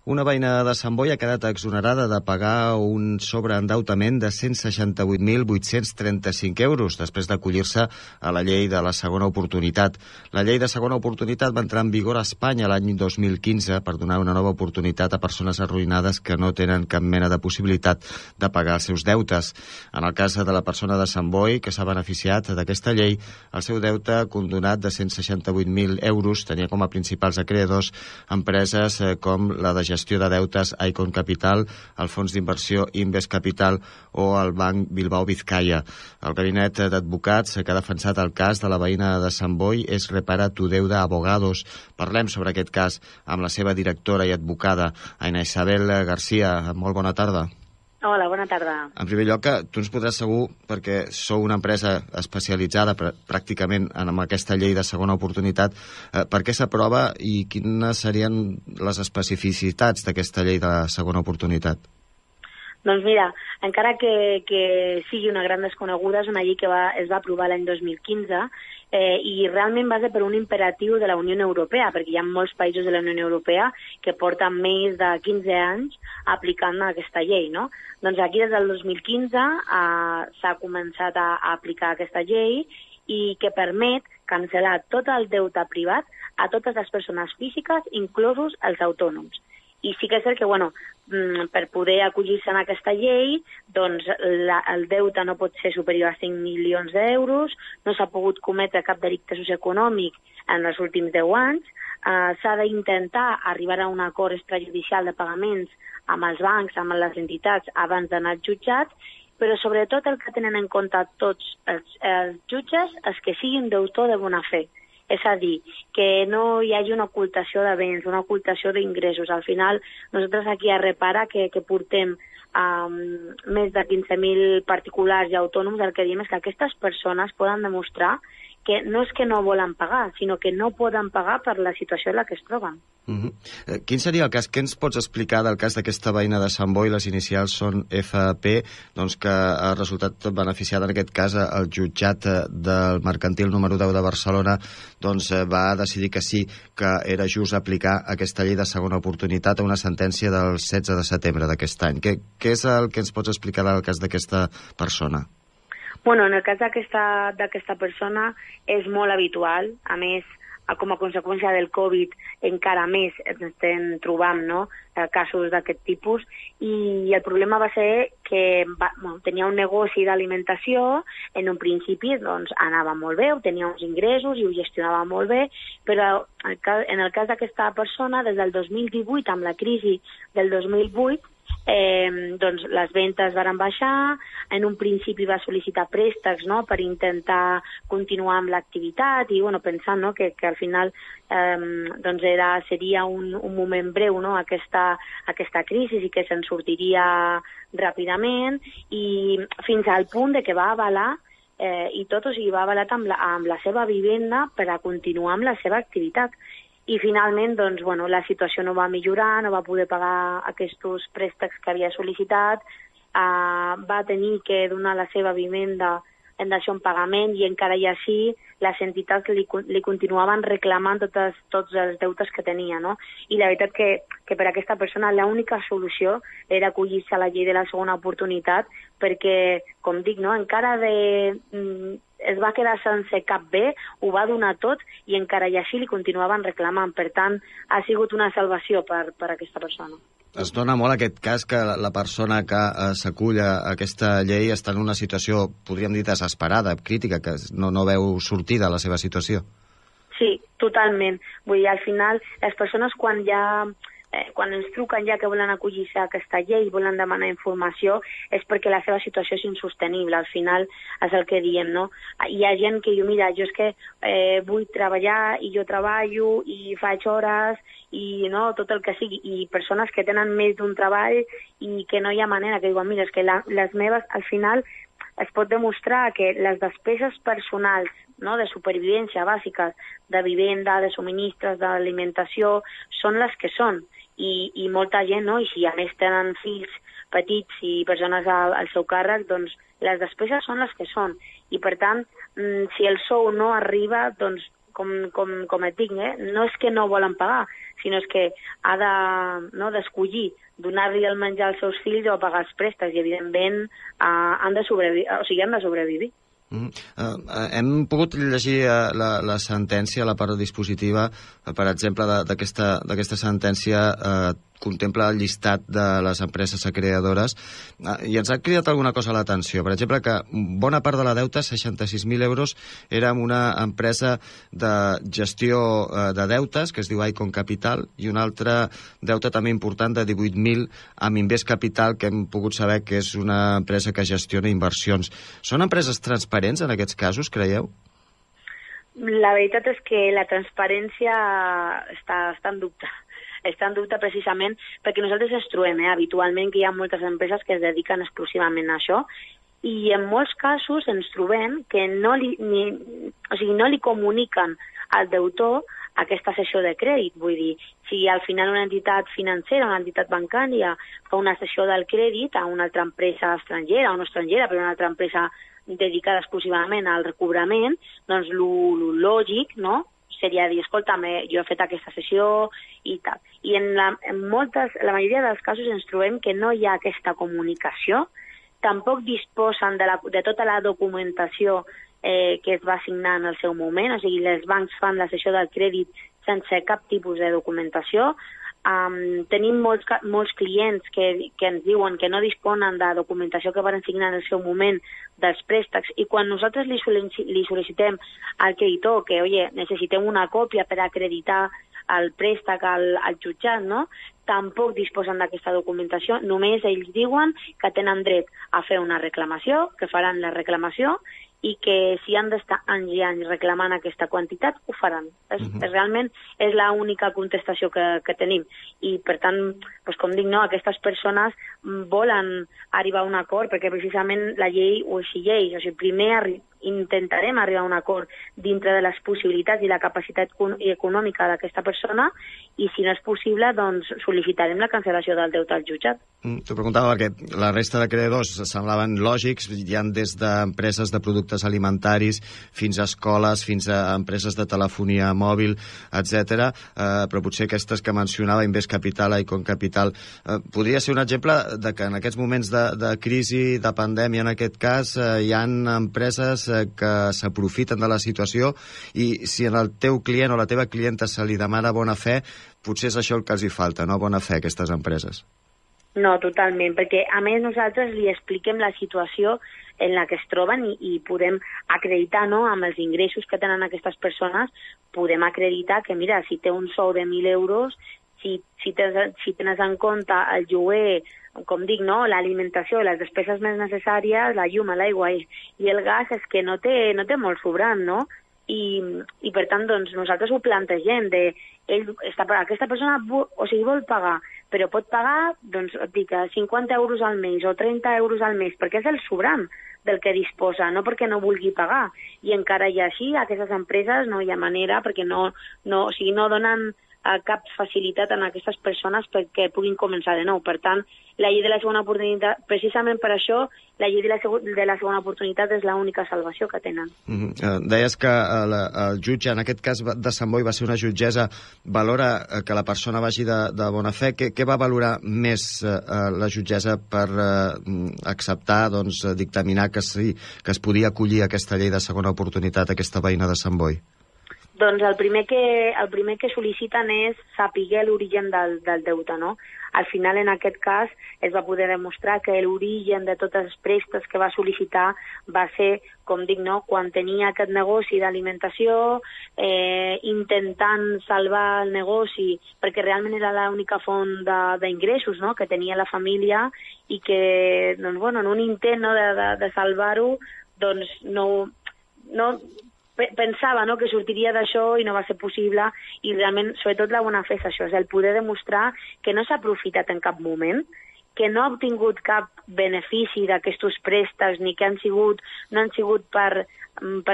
Una veïna de Sant Boi ha quedat exonerada de pagar un sobreendeutament de 168.835 euros després d'acollir-se a la llei de la segona oportunitat. La llei de segona oportunitat va entrar en vigor a Espanya l'any 2015 per donar una nova oportunitat a persones arruïnades que no tenen cap mena de possibilitat de pagar els seus deutes. En el cas de la persona de Sant Boi, que s'ha beneficiat d'aquesta llei, el seu deute condonat de 168.000 euros tenia com a principals acreedors empreses com la de gestió de deutes Icon Capital, el fons d'inversió Inves Capital o el Banc Bilbao Vizcaya. El gabinet d'advocats que ha defensat el cas de la veïna de Sant Boi és Repara tu deuda Abogados. Parlem sobre aquest cas amb la seva directora i advocada, Aina Isabel García. Molt bona tarda. Hola, bona tarda. En primer lloc, tu ens podràs segur, perquè sou una empresa especialitzada pràcticament en aquesta llei de segona oportunitat, per què s'aprova i quines serien les especificitats d'aquesta llei de segona oportunitat? Doncs mira, encara que sigui una gran desconeguda, és una llei que es va aprovar l'any 2015 i realment va ser per un imperatiu de la Unió Europea, perquè hi ha molts països de la Unió Europea que porten més de 15 anys aplicant aquesta llei, no? Doncs aquí des del 2015 s'ha començat a aplicar aquesta llei i que permet cancel·lar tot el deute privat a totes les persones físiques, inclosos els autònoms. I sí que és cert que, per poder acollir-se en aquesta llei, doncs el deute no pot ser superior a 5 milions d'euros, no s'ha pogut cometre cap delicte socioeconòmic en els últims 10 anys, s'ha d'intentar arribar a un acord extrajudicial de pagaments amb els bancs, amb les entitats, abans d'anar als jutjats, però sobretot el que tenen en compte tots els jutges és que siguin deutor de bona fe. És a dir, que no hi hagi una ocultació de béns, una ocultació d'ingressos. Al final, nosaltres aquí a Repara, que portem més de 15.000 particulars i autònoms, el que diem és que aquestes persones poden demostrar que no és que no volen pagar, sinó que no poden pagar per la situació en la que es troben. Quin seria el cas? Què ens pots explicar del cas d'aquesta veïna de Sant Boi? Les inicials són FP, doncs que ha resultat beneficiada en aquest cas el jutjat del mercantil número 10 de Barcelona, doncs va decidir que sí, que era just aplicar aquesta llei de segona oportunitat a una sentència del 16 de setembre d'aquest any. Què és el que ens pots explicar del cas d'aquesta persona? En el cas d'aquesta persona és molt habitual, a més, com a conseqüència del Covid encara més ens estem trobant casos d'aquest tipus, i el problema va ser que tenia un negoci d'alimentació, en un principi anava molt bé, tenia uns ingressos i ho gestionava molt bé, però en el cas d'aquesta persona, des del 2018, amb la crisi del 2008, les ventes van baixar, en un principi va sol·licitar préstecs per intentar continuar amb l'activitat i pensant que al final seria un moment breu aquesta crisi i que se'n sortiria ràpidament, i fins al punt de que va avalar i tot, va avalat amb la seva vivenda per a continuar amb la seva activitat. I finalment, la situació no va millorar, no va poder pagar aquests préstecs que havia sol·licitat, va tenir que donar la seva vivenda en dació en pagament i encara i així les entitats li continuaven reclamant tots els deutes que tenia, no? I la veritat que per a aquesta persona l'única solució era acollir-se a la llei de la segona oportunitat perquè, com dic, encara es va quedar sense cap bé, ho va donar tot i encara i així li continuaven reclamant. Per tant, ha sigut una salvació per a aquesta persona. Es dona molt aquest cas que la persona que s'acull a aquesta llei està en una situació, podríem dir, desesperada, crítica, que no veu sortida la seva situació. Sí, totalment. Vull dir, al final, les persones quan ens truquen ja que volen acollir-se a aquesta llei i volen demanar informació és perquè la seva situació és insostenible. Al final és el que diem, no? Hi ha gent que diu, mira, jo és que vull treballar i jo treballo i faig hores i tot el que sigui, i persones que tenen més d'un treball i que no hi ha manera, que diuen, mira, és que les meves, al final es pot demostrar que les despeses personals de supervivència bàsiques, de vivenda, de subministres, d'alimentació, són les que són. I molta gent, i si a més tenen fills petits i persones al seu càrrec, doncs les despeses són les que són. I per tant, si el sou no arriba, doncs com et dic, no és que no volen pagar, sinó és que ha d'escollir donar-li el menjar als seus fills o pagar els préstecs, i evidentment han de sobrevivir. Hem pogut llegir la sentència, la part dispositiva, per exemple, d'aquesta sentència contempla el llistat de les empreses acreedores i ens ha cridat alguna cosa a l'atenció. Per exemple, que bona part de la deuta, 66.000 euros, era amb una empresa de gestió de deutes, que es diu Icon Capital, i una altra deuta també important de 18.000 amb Invest Capital, que hem pogut saber que és una empresa que gestiona inversions. Són empreses transparents en aquests casos, creieu? La veritat és que la transparència està en dubte. Està en dubte precisament perquè nosaltres ens trobem habitualment que hi ha moltes empreses que es dediquen exclusivament a això, i en molts casos ens trobem que no li comuniquen al deutor aquesta cessió de crèdit. Vull dir, si al final una entitat financera, una entitat bancària fa una cessió del crèdit a una altra empresa estrangera o no estrangera, però una altra empresa dedicada exclusivament al recobrament, doncs el lògic, no?, seria dir, escolta, jo he fet aquesta sessió i tal. I en la majoria dels casos ens trobem que no hi ha aquesta comunicació, tampoc disposen de tota la documentació que es va signar en el seu moment, o sigui, els bancs fan la cessió del crèdit sense cap tipus de documentació. Tenim molts clients que ens diuen que no disponen de documentació que van signar en el seu moment dels préstecs, i quan nosaltres li sol·licitem al creditor que, oye, necessitem una còpia per acreditar el préstec al jutjat, no?, tampoc disposen d'aquesta documentació, només ells diuen que tenen dret a fer una reclamació, que faran la reclamació, i que si han d'estar anys i anys reclamant aquesta quantitat, ho faran. Realment és l'única contestació que tenim. I, per tant, com dic, aquestes persones volen arribar a un acord perquè precisament la llei ho exigeix. O sigui, primer intentarem arribar a un acord dintre de les possibilitats i la capacitat econòmica d'aquesta persona, i si no és possible, doncs sol·licitarem la cancel·lació del deute al jutjat. T'ho preguntava perquè la resta de creditors semblaven lògics, hi ha des d'empreses de productes alimentaris fins a escoles, fins a empreses de telefonia mòbil, etc. Però potser aquestes que mencionava, Invest Capital, Icon Capital, podria ser un exemple de que en aquests moments de crisi, de pandèmia en aquest cas, hi ha empreses que s'aprofiten de la situació, i si en el teu client o la teva clienta se li demana bona fe, potser és això el que els hi falta, no? Bona fe, aquestes empreses. No, totalment, perquè a més nosaltres li expliquem la situació en la que es troben i podem acreditar, no?, amb els ingressos que tenen aquestes persones, podem acreditar que, mira, si té un sou de 1.000 euros, si tens en compte el lloguer, com dic, no?, l'alimentació, les despeses més necessàries, la llum, l'aigua i el gas, és que no té molt sobrant, no? I per tant, doncs, nosaltres ho plantegem, aquesta persona vol pagar, però pot pagar, doncs, et dic, 50 euros al mes o 30 euros al mes, perquè és el sobrant del que disposa, no perquè no vulgui pagar. I encara i així, aquestes empreses no hi ha manera, perquè no donen cap facilitat a aquestes persones perquè puguin començar de nou. Per tant, la llei de la segona oportunitat, precisament per això, la llei de la segona oportunitat és l'única salvació que tenen. Deies que el jutge, en aquest cas de Sant Boi, va ser una jutgessa, valora que la persona vagi de bona fe. Què va valorar més la jutgessa per acceptar, doncs, dictaminar que es podia acollir aquesta llei de segona oportunitat, aquesta veïna de Sant Boi? Doncs el primer que sol·liciten és saber l'origen del deute, no? Al final, en aquest cas, es va poder demostrar que l'origen de tots els préstecs que va sol·licitar va ser, com dic, no?, quan tenia aquest negoci d'alimentació, intentant salvar el negoci, perquè realment era l'única font d'ingressos, no?, que tenia la família, i que, doncs, bueno, en un intent, no?, de salvar-ho, doncs no pensava, no?, que sortiria d'això i no va ser possible, i realment, sobretot la bona fe és això, és el poder demostrar que no s'ha aprofitat en cap moment que no ha obtingut cap benefici d'aquests préstecs, ni que no han sigut per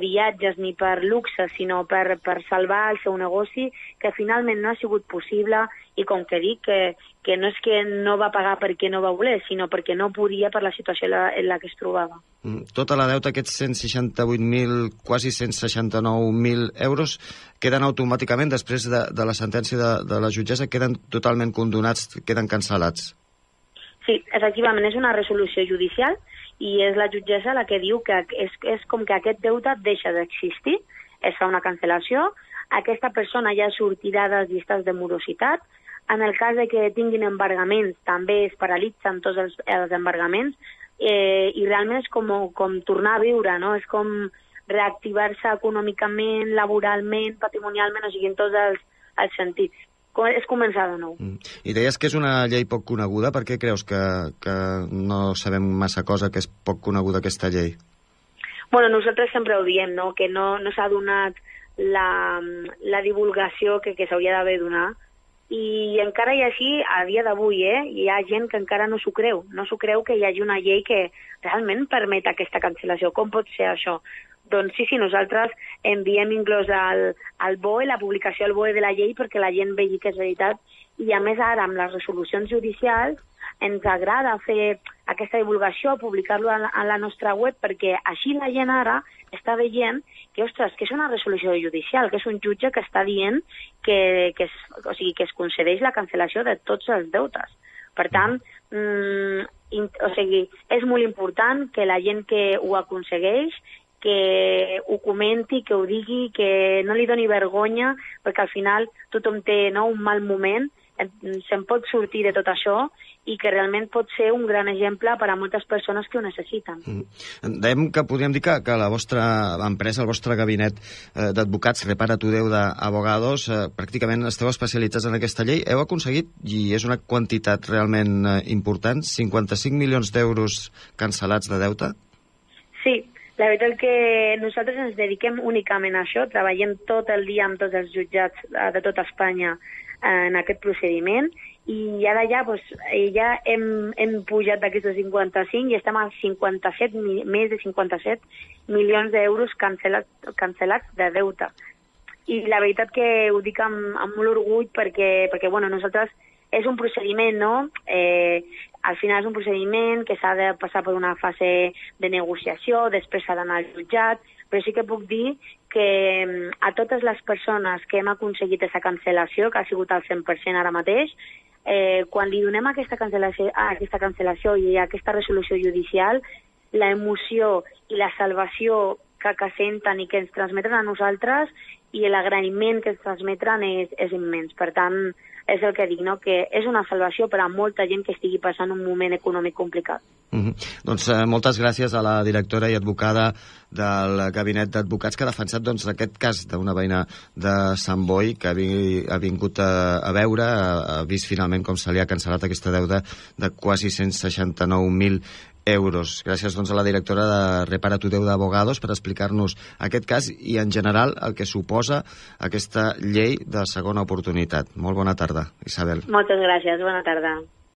viatges ni per luxe, sinó per salvar el seu negoci, que finalment no ha sigut possible, i com que dic, que no és que no va pagar perquè no va voler, sinó perquè no podia per la situació en la que es trobava. Tota la deuta, aquests 168.000, quasi 169.000 euros, queden automàticament, després de la sentència de la jutgessa, queden totalment condonats, queden cancel·lats. Sí, efectivament, és una resolució judicial i és la jutgessa la que diu que és com que aquest deute deixa d'existir, es fa una cancel·lació, aquesta persona ja sortirà de les llistes de morositat. En el cas de que tinguin embargaments, també es paralitzen tots els embargaments, i realment és com tornar a viure, no? És com reactivar-se econòmicament, laboralment, patrimonialment, o sigui, en tots els sentits. És començar de nou. I deies que és una llei poc coneguda. Per què creus que no sabem massa cosa, que és poc coneguda aquesta llei? Bueno, nosaltres sempre ho diem, no? Que no s'ha donat la divulgació que s'hauria d'haver donat, i encara i així, a dia d'avui, hi ha gent que encara no s'ho creu. No s'ho creu que hi hagi una llei que realment permet aquesta cancel·lació. Com pot ser això? Doncs sí, nosaltres enviem inclús al BOE, la publicació al BOE de la llei, perquè la gent vegi que és veritat. I a més ara, amb les resolucions judicials, ens agrada fer aquesta divulgació, publicar-lo a la nostra web, perquè així la gent ara està veient que, ostres, que és una resolució judicial, que és un jutge que està dient que es concedeix la cancel·lació de tots els deutes. Per tant, és molt important que la gent que ho aconsegueix que ho comenti, que ho digui, que no li doni vergonya, perquè al final tothom té un mal moment, se'n pot sortir de tot això, i que realment pot ser un gran exemple per a moltes persones que ho necessiten. Dèiem que podríem dir que la vostra empresa, el vostre gabinet d'advocats, Repara tu Deuda Abogados, pràcticament esteu especialitzats en aquesta llei. Heu aconseguit, i és una quantitat realment important, 55 milions d'euros cancel·lats de deute? Sí, la veritat que nosaltres ens dediquem únicament a això, treballem tot el dia amb tots els jutjats de tota Espanya en aquest procediment, i ara ja hem pujat d'aquestes 55 i estem a més de 57 milions d'euros cancel·lats de deute. I la veritat que ho dic amb molt orgull perquè nosaltres és un procediment, no? Al final és un procediment que s'ha de passar per una fase de negociació, després s'ha d'anar al jutjat, però sí que puc dir que a totes les persones que hem aconseguit aquesta cancel·lació, que ha sigut al 100% ara mateix, quan li donem aquesta cancel·lació i aquesta resolució judicial, l'emoció i la salvació que senten i que ens transmeten a nosaltres i l'agraïment que ens transmeten és immens. Per tant, és el que dic, no? Que és una salvació per a molta gent que estigui passant un moment econòmic complicat. Doncs moltes gràcies a la directora i advocada del Gabinet d'Advocats que ha defensat aquest cas d'una veïna de Sant Boi que ha vingut a veure, ha vist finalment com se li ha cancel·lat aquesta deuda de quasi 169.000 euros. Gràcies a la directora de Repara tu Deuda Abogados per explicar-nos aquest cas i en general el que suposa aquesta llei de segona oportunitat. Molt bona tarda, Isabel. Moltes gràcies, bona tarda.